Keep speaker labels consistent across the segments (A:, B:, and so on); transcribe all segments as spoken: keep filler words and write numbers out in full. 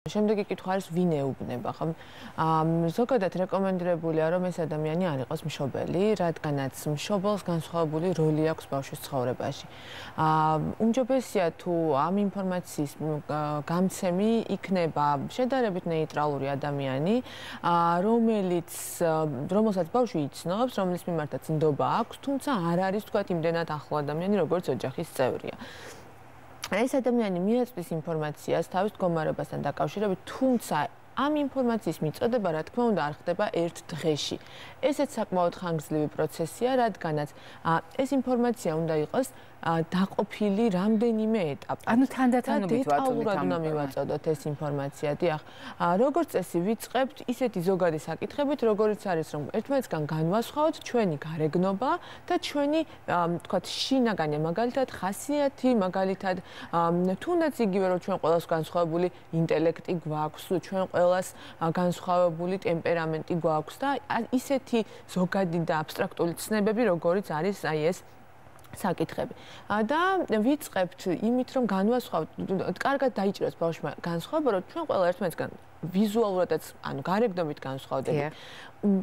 A: შემდეგი კითხვა არის ვინ ეუბნება, ხო? ზოგადად რეკომენდებულია, რომ ეს ადამიანი არ იყოს მშობელი, რადგანაც მშობელს განსხვავებული როლი აქვს ბავშვის ცხოვრებაში. უმჯობესია თუ ამ ინფორმაციის გამცემი იქნება შედარებით ნეიტრალური ადამიანი, რომელიც რომელსაც ბავშვი იცნობს, რომლის მიმართაც ნდობა აქვს, თუმცა არ არის თქვათ იმდენად ახლო ადამიანი, როგორც ოჯახის წევრია. ეს ადამიანი მიაწვის ინფორმაციას თავის მდგომარეობასთან დაკავშირებით, თუმცა ამ ინფორმაციის მიწოდება, რა თქმა უნდა, არ ხდება ერთ დღეში. ესეც საკმაოდ ხანგრძლივი პროცესია, რადგანაც ეს ინფორმაცია უნდა იყოს დაყოფილი რამდენიმე ეტაპად.
B: ანუ თანდათანობით
A: დეტალურად უნდა მივაწოდოთ ეს ინფორმაცია, დიახ. როგორც წესი ვიწყებთ ისეთი ზოგადი საკითხებით, როგორიც არის, რომ ერთმანეთსგან განვასხვაოთ ჩვენი გარეგნობა და ჩვენი, თქვათ, შინაგანი, მაგალითად, ხასიათი, მაგალითად, თუნდაც იგივე, რომ ჩვენ ყველას განსხვავებული ინტელექტი გვაქვს, ჩვენ ყველას განსხვავებული ტემპერამენტი გვაქვს და ისეთი ზოგადი და აბსტრაქტული ცნებები, როგორიც არის აი ეს საკითხები. და ვიწყებთ იმით, რომ განვასხვაოთ, კარგად დაიჭიროს ბავშვმა განსხვავება, რომ ჩვენ ყველა ერთმანეთსგან ვიზუალურადაც, ანუ გარეგნობით განსხვავდებით.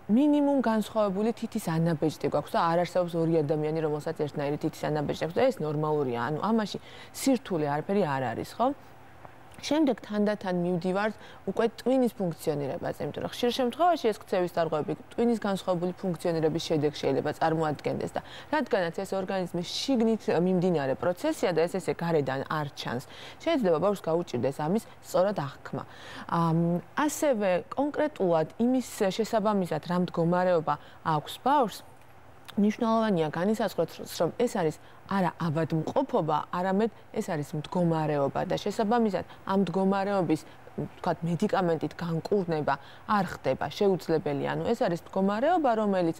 A: მინიმუმ განსხვავებული თითის ანაბეჭდი გვაქვს და არ არსებობს ორი ადამიანი, რომელსაც ერთნაირი თითის ანაბეჭდი აქვს და ეს ნორმალურია. ანუ ამაში სირთულე არაფერი არ არის, ხო? შემდეგ თანდათან მივდივართ უკვე ტვინის ფუნქციონირებაზე, იმიტომ რომ ხშირ შემთხვევაში ეს ქცევის დარღვევები ტვინის განსხვავებული ფუნქციონირების შედეგ შეიძლება წარმოადგენდეს და რადგანაც ეს ორგანიზმის შიგნით მიმდინარე პროცესია და ეს ესე გარედან არ ჩანს, შეიძლება ბავშვს გაუჭირდეს ამის სწორად აღქმა. ასევე კონკრეტულად იმის შესაბამისად რა მდგომარეობა აქვს ბავშვს, მნიშვნელოვანია განისაზღვროთ, რომ ეს არის არა ავადმყოფობა, არამედ ეს არის მდგომარეობა და შესაბამისად ამ მდგომარეობის, თქვათ, მედიკამენტით განკურნება არ ხდება, შეუძლებელია. ანუ ეს არის მდგომარეობა, რომელიც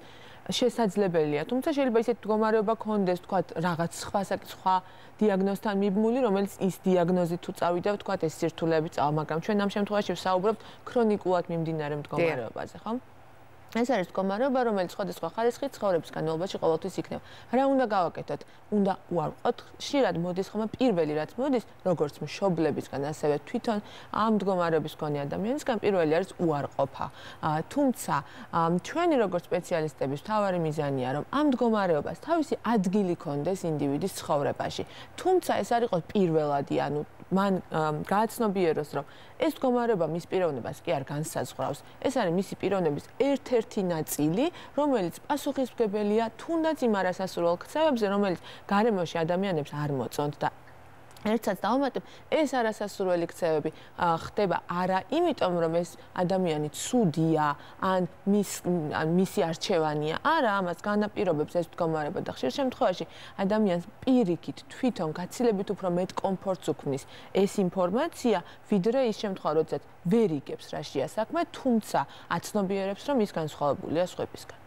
A: შესაძლებელია, თუმცა შეიძლება ისეთი მდგომარეობა გქონდეს, თქვათ, რაღაც სხვა სხვა დიაგნოზთან მიბმული, რომელიც ის დიაგნოზით თუ წავიდა, თქვათ, ეს სირთულეები წავა, მაგრამ ჩვენ ამ შემთხვევაში ვსაუბრობთ ქრონიკულად მიმდინარე მდგომარეობაზე, ხო? ეს არის მდგომარეობა, რომელიც სხვადასხვა ხარისხით ცხოვრების განმავლობაში ყოველთვის იქნება. რა უნდა გავაკეთოთ? უნდა უარყოთ. ხშირად მოდის ხოლმე პირველი რაც მოდის, როგორც მშობლებისგან, ასევე თვითონ ამ მდგომარეობის მქონე ადამიანისგან პირველი არის უარყოფა. თუმცა ჩვენი როგორც სპეციალისტების მთავარი მიზანია, რომ ამ მდგომარეობას თავისი ადგილი ქონდეს ინდივიდის ცხოვრებაში. თუმცა ეს არ იყოს პირველადი, ანუ მან გააცნობიეროს, რომ ეს მდგომარეობა მის პიროვნებას კი არ განსაზღვრავს. ეს არის მისი პიროვნების ერთ-ერთი ნაწილი, რომელიც პასუხისმგებელია თუნდაც იმ არასასურველ ქცევებზე, რომელიც გარემოში ადამიანებს არ მოწონთ და ერთსაც დავუმატებ, ეს არასასურველი ქცევები ხდება არა იმიტომ, რომ ეს ადამიანი ცუდია, ან მის ან მისი არჩევანია, არა, ამას განაპირობებს ეს მდგომარეობა და ხშირ შემთხვევაში ადამიანს პირიქით თვითონ გაცილებით უფრო მეტ კომფორტს უქმნის ეს ინფორმაცია, ვიდრე ის შემთხვევა, როდესაც ვერ იგებს რა შეა საქმე, თუმცა აცნობიერებს, რომ ის განსხვავებულია სხვებისგან.